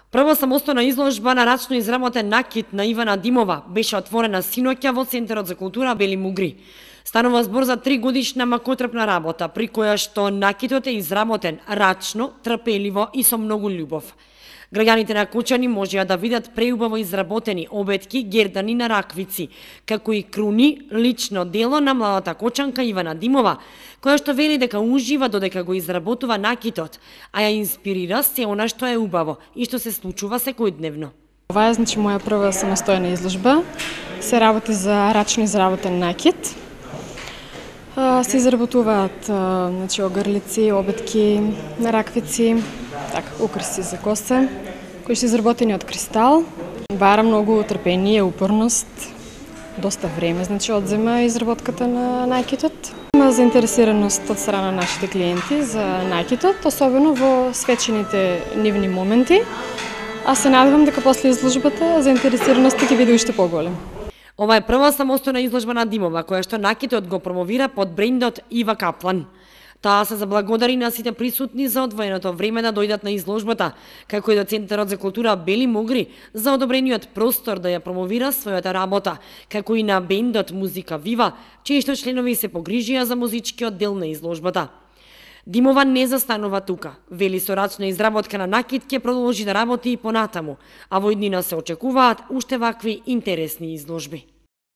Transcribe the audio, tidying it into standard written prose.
Прва самостојна изложба на рачно изработен накит на Ивана Димова беше отворена синоќа во Центарот за култура Бели Мугри. Станува збор за 3-годишна макотрпна работа, при која што накитот е изработен рачно, трпеливо и со многу љубов. Граѓаните на Кочани можеа да видат преубаво изработени обетки, гердани на раквици, како и круни, лично дело на младата кочанка Ивана Димова, која што вели дека ужива додека го изработува накитот, а ја инспирира се она што е убаво и што се случува секојдневно. Ова е моја прва самостојна изложба. Се работи за рачно изработен накит. Се изработуваат огрлици, обетки на раквици, украси за коса, кои се изработени од кристал. Бара многу трпение, упорност, доста време одзема изработката на накитот. Има заинтересираност од страна на нашите клиенти за накитот, особено во свечените нивни моменти. А се надевам дека после изложбата заинтересираноста ќе биде уште поголем. Ова е прва самостојна изложба на Димова, која што накитот го промовира под брендот Ива Каплан. Таа се заблагодари на сите присутни за одвоеното време да дојдат на изложбата, како и до Центарот за култура Бели Мугри за одобрениот простор да ја промовира својата работа, како и на бендот Музика Вива, чии што членови се погрижија за музичкиот дел на изложбата. Димова не застанува тука. Вели со рачна изработка на накит ќе продолжи да работи и понатаму, а во иднина се очекуваат уште вакви интересни изложби.